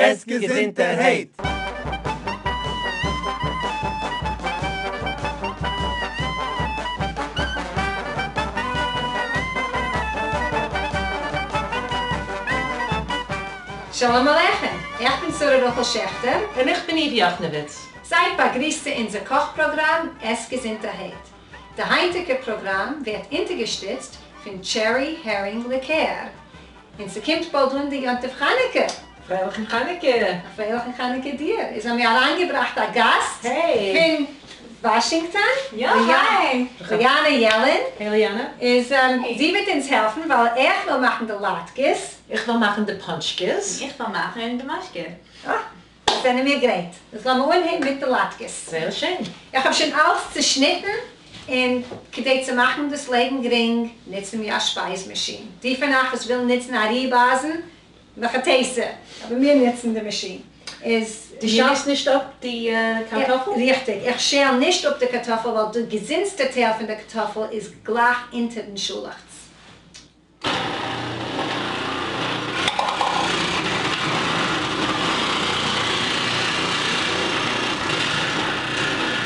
עס געזונטערהייט! שלום עליכם! איך בין שרה רחל שעכטער. און איך בין איוו יאכנעוויץ. זייט באגריסט צו אונזער קאך פראגראם עס געזונטערהייט. די היינטיגע פראגראם ווערט אונטערגעשטיצט פון Cherry Heering ליקער. און ס'קומט באלד אן די יום טוב חנוכה! פרייליכן חנוכה! א פרייליכן חנוכה דיר! איז האבן מיר אריינגעבראכט א גאסט פון וואשינגטאן, ליאנא יעלין. Hey ליאנא. איז זי וועט אונז העלפן ווייל איך וויל מאכן די לאטקעס. איך וועל מאכן די פאנטשקעס. איך וועל מאכן די משקה. אה! זענען מיר גרייט. איז לאמיר אנהייבן מיט די לאטקעס. זייער שיין. איך האב שוין אלץ צעשניטן, און כדי צו מאכן דאס לעבן גרינג, נוצן מיר א שפייז מאשין. די פון אייך וואס ווילן נוצן א ריב-אייזן, מהיכא תיתי, אבער מיר נוצן די מאשין. איז דו שעלסט נישט אפ די קארטאפל? ריכטיג, איך שעל נישט אפ די קארטאפל ווייל די געזונטסטע טייל פון די קארטאפל איז גלייך אונטערן שאלעכץ.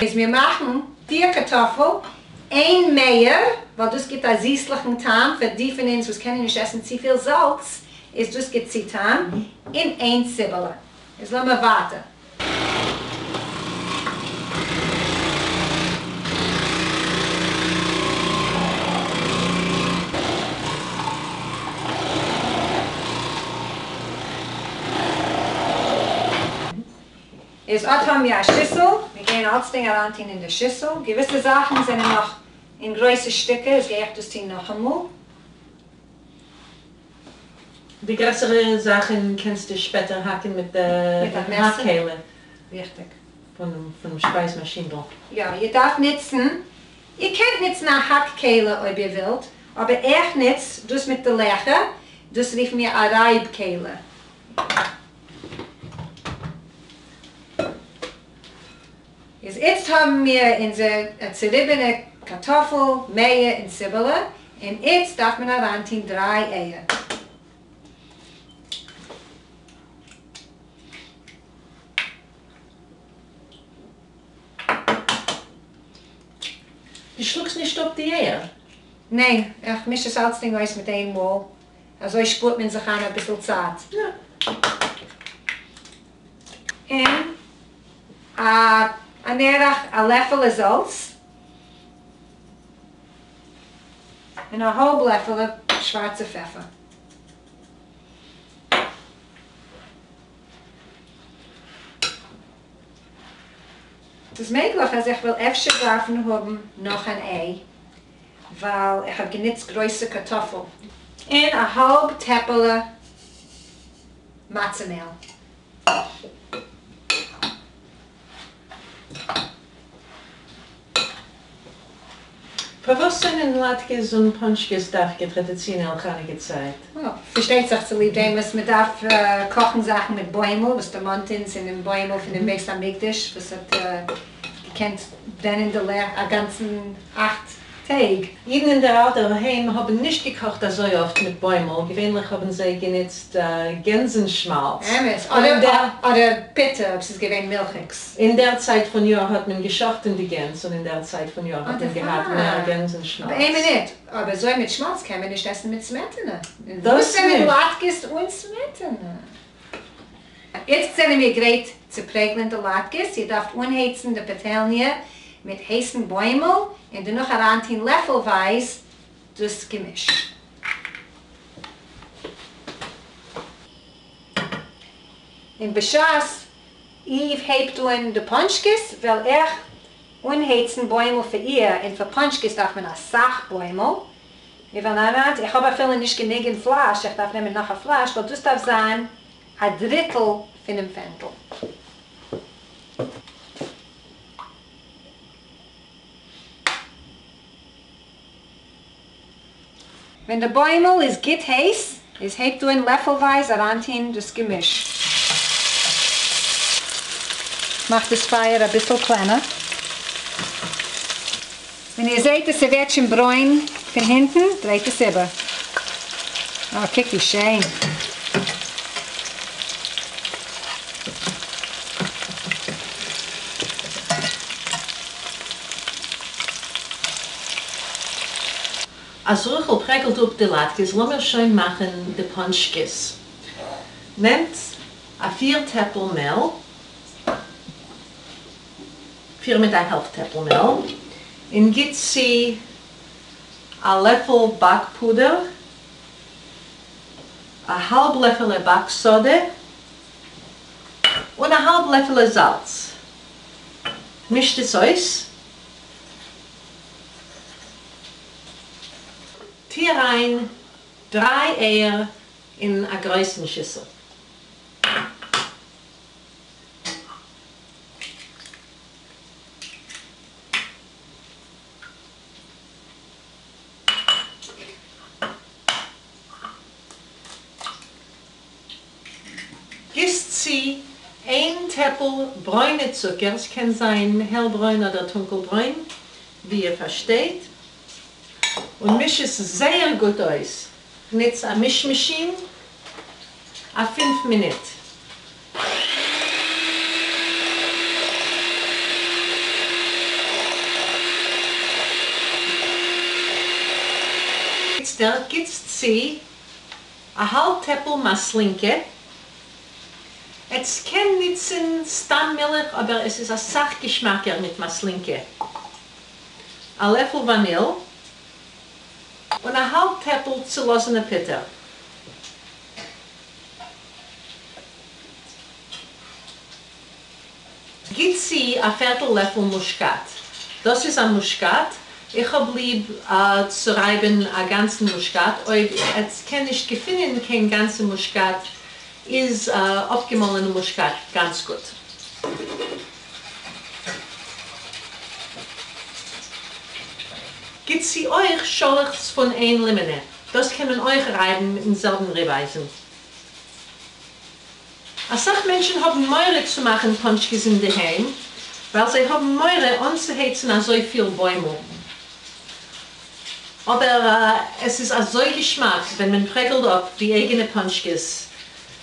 איז מיר מאכן פיר קארטאפל, איין מעיער, ווייל דאס גיבט א זיסליכן טעם פאר די פון אונז וואס קענען נישט עסן צופיל זאלץ, איז דאס גיט צו טעם, און איין ציבעלע. איז לאמיר ווייטער. איז אט האבן מיר א שיסל, מיר גייען אלצדינג אריינטון אין די שיסל, געוויסע זאכן זענען נאך אין גרויסע שטיקער, איז גיי איך דאס טון נאכאמאל. די גרעסערע זאכן קענסטו שפעטער האקן מיט די האק-כלי. ריכטיג. פונעם שפייז מאשינדל. יא, איר דארפט נוצן, איר קענט נוצן א האק-כלי אויב איר ווילט, אבער איך נוץ דאס מיט די לעכער, דאס רופן מיר א רייב כלי. איז איצט האבן מיר אונזער צוריבענע קארטאפל, מעיער און ציבעלע, און איצט דארף מען אריינטון דריי אייער. דו שלאגסט נישט אפ די אייער? ניין, איך מיש עס אלצדינג אויס מיט איין מאל, אזוי שפארט מען זיך איין אביסל צייט. און אן ערך א לעפעלע זאלץ, און א האלב לעפעלע שווארצע פעפער. ס'איז מעגליך אז איך וועל אפשר דארפן האבן נאך אן איי, ווייל איך האב גענוצט גרויסע קארטאפל. און א האלב טעפעלע מצה מעל. פארוואס זענען לאטקעס און פאנטשקעס דווקא טראדיציאנעל חנוכה צייט? פארשטייט זיך צוליב דעם וואס מען דארף קאכן זאכן מיט בוימל, וואס דערמאנט אונז אינעם בוימל פונעם בית המקדש וואס האט געקענט ברענען די לעכט א גאנצן אכט טעג. אידן אין דער אלטער היים האבן נישט געקאכט אזוי אפט מיט בוימל, געווענליך האבן זיי גענוצט גענזן שמאלץ. אמת, אדער אדער פוטער אויב ס'איז געווען מילכיגס. אין דער צייט פון יאר האט מען געשאכטן די גענז און אין דער צייט פון יאר האט מען געהאט מער גענזן שמאלץ. אבער איין מינוט, אבער אזוי מיט שמאלץ קען מען נישט עסן מיט סמעטענע. וואס זענען לאטקעס אן סמעטענע? איצט זענען מיר גרייט צו פרעגלען די לאטקעס, איר דארפט אנהייצן די פאטעלניע מיט הייסן בוימל און דערנאך אריינטון לעפלווייז דאס געמיש. און בשעת איוו הייבט אן די פאנטשקעס וועל איך אנהייצן בוימל פאר איר, און פאר פאנטשקעס דארף מען אסאך בוימל, מיר וועלן אריין, איך האב אפילו נישט גענוג אין פלאש, איך דארף נעמען נאך א פלאש, ווייל דאס דארף זיין א דריטל פונעם פענדל. ווען די בוימל איז גוט הייס, איז הייבט אן לעפלווייז אריינטוהן דאס געמיש. מאכט דאס פייער אביסל קלענער. ווען איר זעהט אז ס'ווערט שוין ברוין פון הינטן, דרייט עס איבער. אה, קוק ווי שיין. אז רחל פרעגלט אפ די לאטקעס לאמיר שוין מאכן די פאנטשקעס. נעמט א פיר טעפל מעל, פיר מיט א העלפט טעפל מעל, און גיט צו א לעפל באק פודער, א האלב לעפעלע באק סאדע, און א האלב לעפעלע זאלץ. מישט עס אויס. טו אריין דריי אייער אין א גרויסן שיסל. גיסט צו איין טעפל ברוינע צוקער, ס'קען זיין העלברוין אדער טונקלברוין, ווי איר פארשטייט, און מיש עס זייער גוט אויס. נוץ א מיש מאשין א פינף מינוט. איצטער גיטס צו א האלב טעפל מאסלינקע, עטס קען ניצן סתם מילך אבער עס איז אסאך געשמאקער מיט מאסלינקע, א לעפל וואניל, און א האלב טעפל צולאזענע פוטער. גיט צו א פערטל לעפל מושקאט, דאס איז א מושקאט, איך האב ליב צו רייבן א גאנצן מושקאט, אויב עטס קען נישט געפינען קיין גאנצע מושקאט איז אפגעמאלענע מושקאט גאנץ גוט. גיט צו אויך שאלעכץ פון איין לימענע, דאס קען מען אויך רייבן מיטן זעלבן ריבאייזן. אסאך מענטשן האבן מורא צו מאכן פאנטשקעס אינדערהיים ווייל זיי האבן מורא אנצוהייצן אזויפיל בוימל, אבער עס איז אזוי געשמאק ווען מען פרעגלט אפ די אייגענע פאנטשקעס,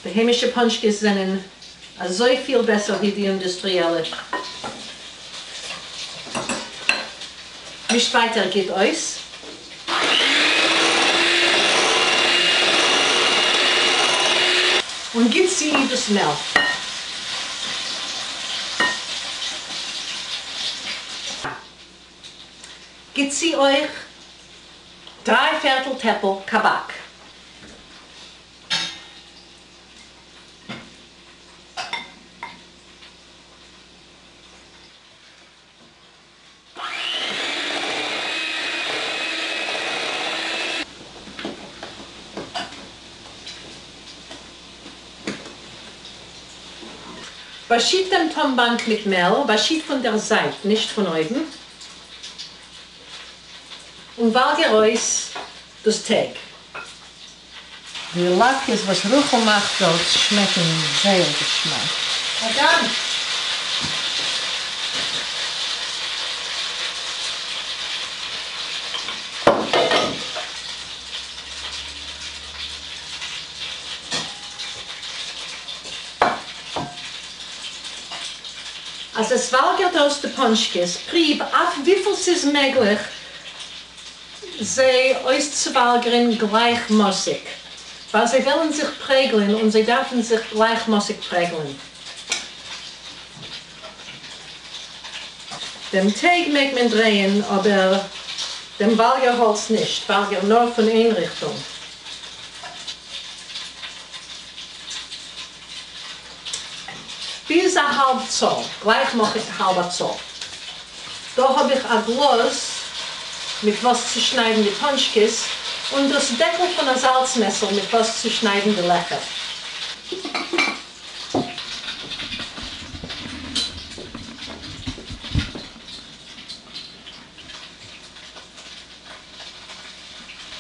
די היימישע פאנטשקעס זענען אזויפיל בעסער ווי די אינדוסטריעלע. מישט ווייטער גוט אויס. און גיט צו דאס מעל. גיט צו אויך דריי פערטל טעפל קאבאק. באשיט דעם טאנבאנק מיט מעל, באשיט פון דער זייט, נישט פון אויבן, און וואלגער אויס דאס טייג. די לאטקעס וואס רחל מאכט דארט שמעקן זייער געשמאק. א דאנק. אז עס וואלגערט אויס די פאנטשקעס, פריוו אויף וויפיל ס'איז מעגליך זיי אויסצואוואלגערן גלייכמאסיג, ווייל זיי וועלן זיך פרעגלען און זיי דארפן זיך גלייכמאסיג פרעגלען. דעם טייג מעג מען דרייען, אבער דעם וואלגערהאלץ נישט, וואלגער נאר פון איין ריכטונג. ביז א האלב צאל, גלייכמאסיג האלבע צאל. דא האב איך א גלאז מיט וואס צו שניידן די פאנטשקעס, און דאס דעקל פון א זאלץ מעסער מיט וואס צו שניידן די לעכער.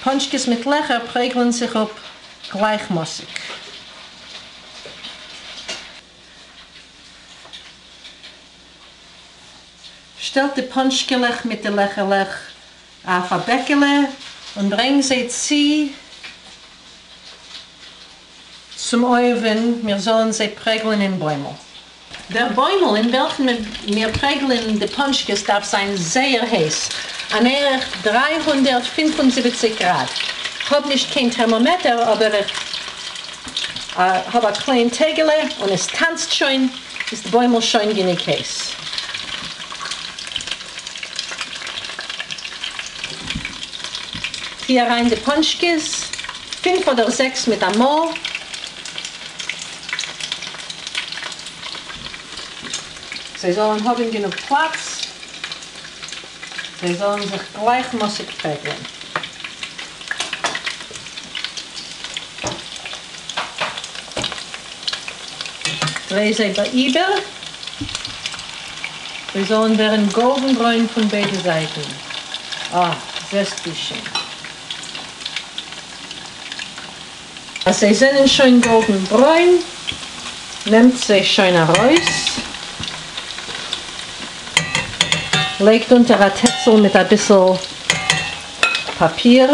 פאנטשקעס מיט לעכער פרעגלען זיך אפ גלייכמאסיג. שטעלט די פאנטשקעלעך מיט די לעכערלעך אויף א בעקעלע און ברענג זיי צו צום אויווען מיר זאלן זיי פרעגלען אין בוימל. דער בוימל אין וועלכן מיר פרעגלען די פאנטשקעס דארף זיין זייער הייס. אן ערך 375 גראד. כ'האב נישט קיין טערמאמעטער אבער איך האב א קליין טעגעלע און עס טאנצט שוין, איז די בוימל שוין גענוג הייס. טוה אריין די פאנטשקעס, פינף אדער זעקס מיט א מאל. זיי זאלן האבן גענוג פלאץ, זיי זאלן זיך גלייכמאסיג פרעגלען. דריי זיי איבער, זיי זאלן ווערן גאלדן ברוין פון ביידע זייטן. אה, זעסט ווי שיין. אז זיי זענען שוין גאלדן ברוין, נעמט זיי שוין ארויס, לייגט אונטער א טעצל מיט אביסל פאפיר.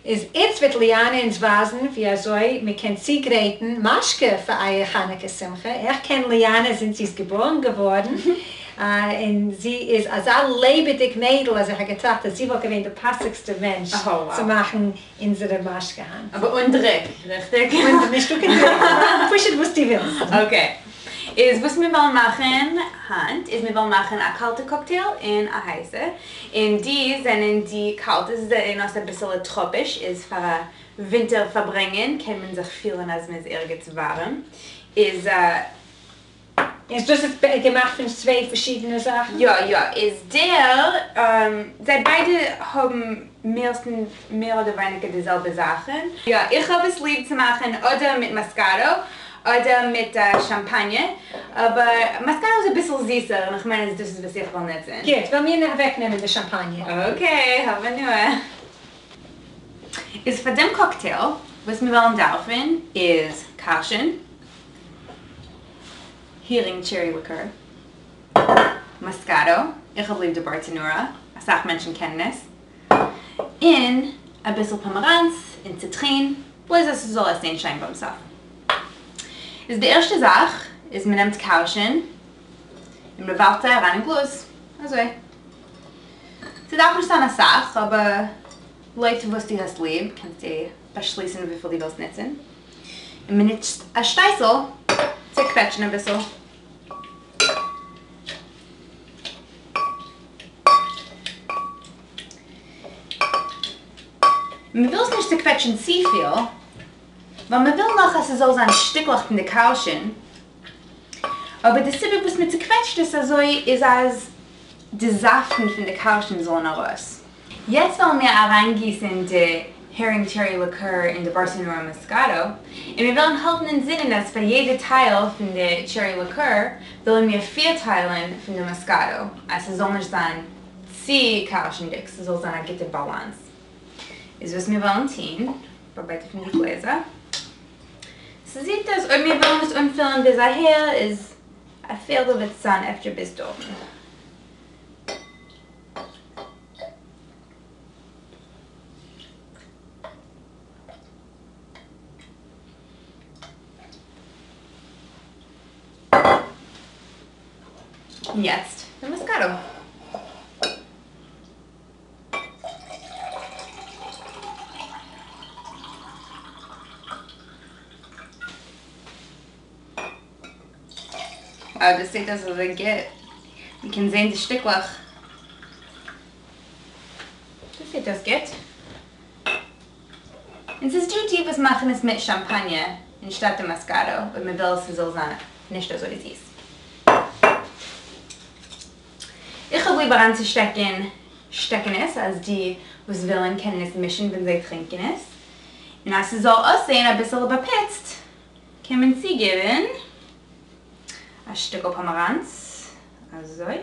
איז איצט וועט ליאנע אונז ווייזן ווי אזוי מען קען צוגרייטן משקה פאר אייער חנוכה שמחה, איך קען ליאנע זינט זי איז געבארן געווארן, און זי איז אזא לעבעדיג מיידל אז איך האב געטראכט אז זי וואלט געווען די פאסיגסטע מענטש צו מאכן אונזערע משקה היינט. אבער אן דריק, ריכטיג? אן, נישטא קיין דריק, פשוט וואס דו ווילסט. Okay. איז וואס מיר וועלן מאכן היינט איז מיר וועלן מאכן א קאלטע קאקטעיל און א הייסע, און די זענען די קאלטע, זיי זעען אויס אביסעלע טראפיש, איז פאר א ווינטער פארברענגען קען מען זיך פילן אז מען איז ערגעץ ווארעם, איז. איז דאס איז געמאכט פון צוויי פארשידענע זאכן? יא יא, איז דער, זיי ביידע האבן מערסטנס מער אדער ווייניגער די זעלבע זאכן. יא, איך האב עס ליב צו מאכן אדער מיט מאסקאטא אדער מיט שאמפאניע, אבער מאסקאטא איז אביסל זיסער און איך מיין אז דאס איז וואס איך וועל נוצן. גוט, וועל מיר אוועקנעמען די שאמפאניע. Okay, האב הנאה. איז פאר דעם קאקטעיל וואס מיר וועלן דארפן איז קארשן, הערינג cherry ליקער, מאסקאטא, איך האב ליב די בארטענורא, אסאך מענטשן קענען עס, און אביסל פאמעראנץ און ציטרין, בלויז אז ס'זאל אויסזען שיין ביים סוף. איז די ערשטע זאך איז מ'נעמט קארשן און מ'ווארפט זיי אריין אין גלאז, אזוי. ס'דארף נישט זיין אסאך, אבער לויט וואס דו האסט ליב קענסטו באשליסן וויפיל דו ווילסט נוצן. און מ'נוצט א שטייסל צו קוועטשן אביסל. מען וויל עס נישט צוקוועטשן צופיל, ווייל מען וויל נאך אז ס'זאל זיין שטיקלעך פון די קארשן, אבער די סיבה וואס מען צוקוועטשט עס אזוי איז אז די זאפטן פון די קארשן זאלן ארויס. יעצט וועלן מיר אריינגיסן די הערינג cherry ליקער אין די בארסענורא מאסקאטא, און מיר וועלן האלטן אין זינען אז פאר יעדע טייל פון די cherry ליקער ווילן מיר פיר טיילן פון די מאסקאטא, אז ס'זאל נישט זיין צו קארשנדיג, ס'זאל זיין א גוטע באלאנס. איז וואס מיר וועלן טון ביי ביידע פון די גלעזער. ס'זעט אויס אויב מיר וועלן עס אנפילן ביז אהער איז א פערטל וועט עס זיין אפשר ביז דארטן. און יעצט די מאסקאטא. Wow, דאס זעט אויס אזוי גוט. מען קען זען די שטיקלעך. דאס זעט אויס גוט. און ס'איז דא די וואס מאכן עס מיט שאמפאניע אנשטאט די מאסקאטא, אויב מען וויל ס'זאל זיין נישט אזוי זיס. איך האב ליב אריינצושטעקן שטעקענעס אז די וואס ווילן קענען עס מישן ווען זיי טרינקען עס, און אז ס'זאל אויסזען אביסעלע באפוצט קען מען צוגעבן א שטיקל פאמעראנץ אזוי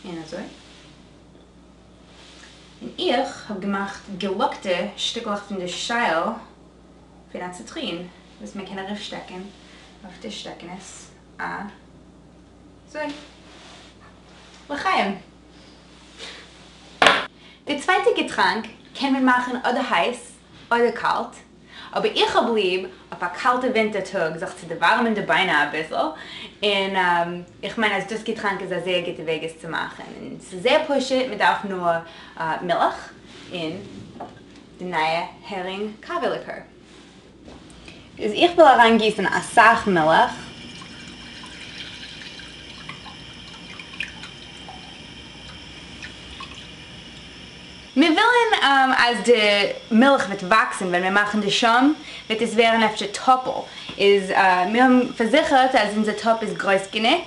און אזוי, און איך האב געמאכט געלאקטע שטיקלעך פון די שייל פון א ציטרין וואס מען קען ארויפשטעקן אויף די שטעקענעס אזוי. לחיים! די צווייטע געטראנק קען מען מאכן אדער הייס אדער קאלט, אבער איך האב ליב אויף א קאלטע ווינטער טאג זיך צו דערווארעמען די ביינער אביסל, און איך מיין אז דאס געטראנק איז א זייער גוטע וועג עס צו מאכן, און ס'איז זייער פשוט, מען דארף נאר מילך און די נייע הערינג קאווע ליקער. איז איך וויל אריין גיסן אסאך מילך. מיר ווילן אז די מילך וועט וואקסן ווען מיר מאכן די שוים וועט עס ווערן אפשר טאפל איז מיר האבן פארזיכערט אז אונזער טאפ איז גרויס גענוג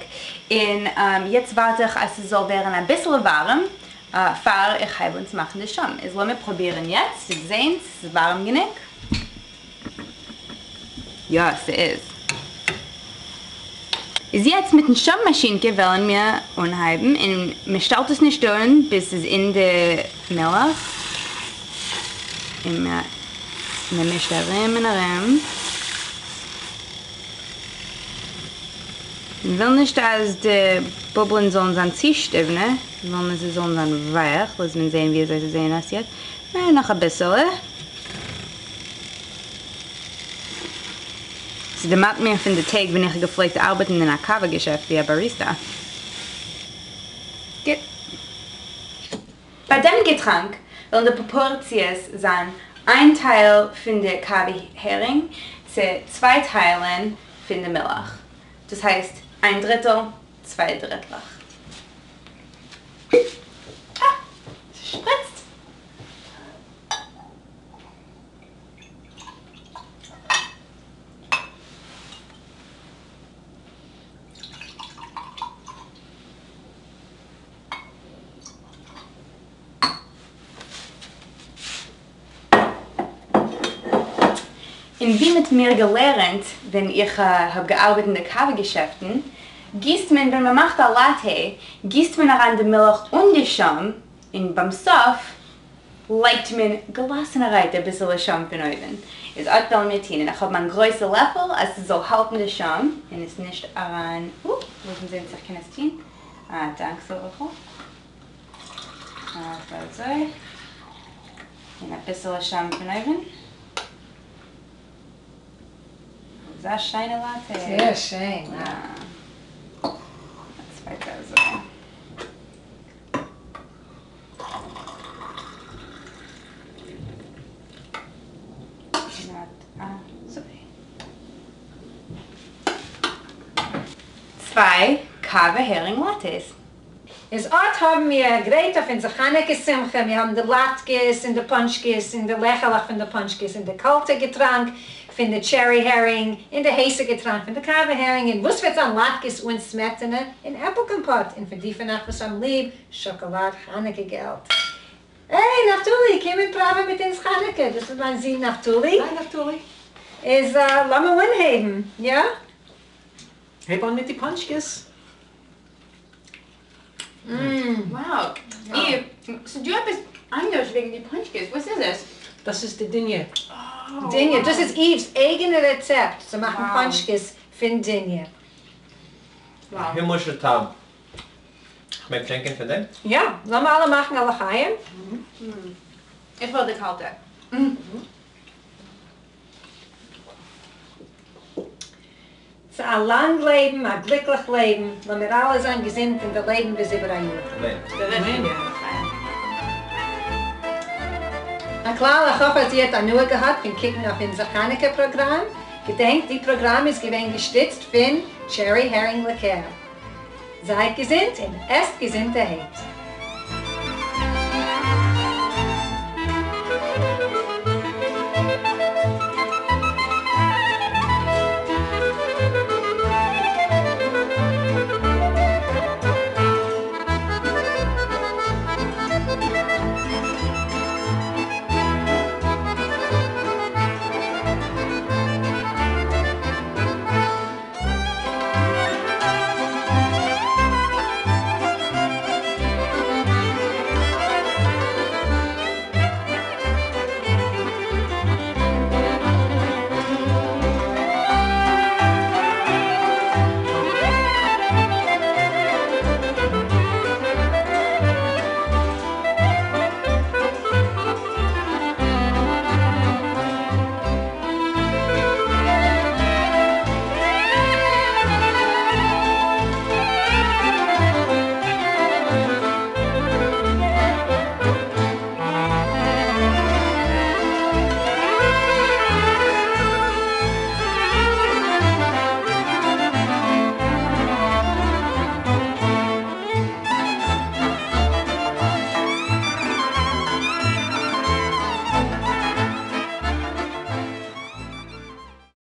און יעצט ווארט איך אז ס'זאל ווערן אביסל ווארעם פאר איך הייב אן צו מאכן די שוים איז לאמיר פרובירן יעצט צו זעהן צו ס'איז ווארעם גענוג. יא ס'איז. איז יעצט מיטן שוים מאשינקע וועלן מיר אנהייבן און מ'שטעלט עס נישט אן ביז ס'איז אין די מילך און מ'מישט ארום און ארום. מ'וויל נישט אז די בובלען זאלן זיין צו שטיוונע, מ'וויל אז זיי זאלן זיין ווייך, לאז מען זעהן ווי אזוי זיי זעהן אויס יעצט, נאך אביסעלע. ס'דערמאנט מיר פון די טעג ווען איך האב געפלעגט ארבעטן אין א קאווע געשעפט ווי א באריסטא. גוט. ביי דעם געטראנק וועלן די פראפארציעס זיין איין טייל פון די קאווע הערינג צו צוויי טיילן פון די מילך. דאס הייסט איין דריטל, צוויי דריטלעך. אה! ס'שפריצט! און ווי מ'האט מיר געלערנט ווען איך האב געארבעט אין די קאווע געשעפטן, גיסט מען ווען מ'מאכט א לאטע גיסט מען אריין די מילך און די שוים, און ביים סוף לייגט מען געלאסענערהייט אביסעלע שוים פון אויבן, איז אט וועלן מיר טון, און איך האב מיין גרויסע לעפל אז ס'זאל האלטן די שוים און עס נישט אריין, אופ, לאז מיר זען צו איך קען עס טון, אה, דאנק זרח'ל, אזוי, און אביסעלע שוים פון אויבן, אזא שיינע לאטע. זייער שיין, יא. צווייטע אזוי. צוויי קאווע הערינג לאטעס. איז אט האבן מיר גרייט אויף אונזער חנוכה שמחה, מיר האבן די לאטקעס און די פאנטשקעס און די לעכעלעך פון די פאנטשקעס און די קאלטע געטראנק פון די טשערי הערינג און די הייסע געטראנק פון די קאווע הערינג און וואס וועט זיין לאטקעס אן סמעטענע און עפל קאמפאט און פאר די פון אייך וואס האבן ליב שאקאלאד חנוכה געלט. היי נפתלי, קום און פראווע מיט אונז חנוכה, דאס איז מיין זון נפתלי. היי נפתלי. איז לאמיר אנהייבן, יא? הייב אן מיט די פאנטשקעס. Wow, איר, ס'דא עפעס אנדערש וועגן די פאנטשקעס, וואס איז עס? דאס איז די דיניע. דיניע, דאס איז איוו'ס אייגענע רעצעפט צו מאכן פאנטשקעס פון דיניע. א הימלישע טעם. כ'מעג טרינקען פון דעם? יא, לאמיר אלע מאכן א לחיים. איך וויל די קאלטע. צו א לאנג לעבן, א גליקליך לעבן, לאמיר אלע זיין געזונט און דערלעבן ביז איבער א יאר. אמן. הכלל, איך האף אז איר האט הנאה געהאט פון קוקן אויף אונזער חנוכה פראגראם. געדענקט, די פראגראם איז געווען געשטיצט פון Cherry Herring Liqueur. זייט געזונט און עסט געזונטערהייט.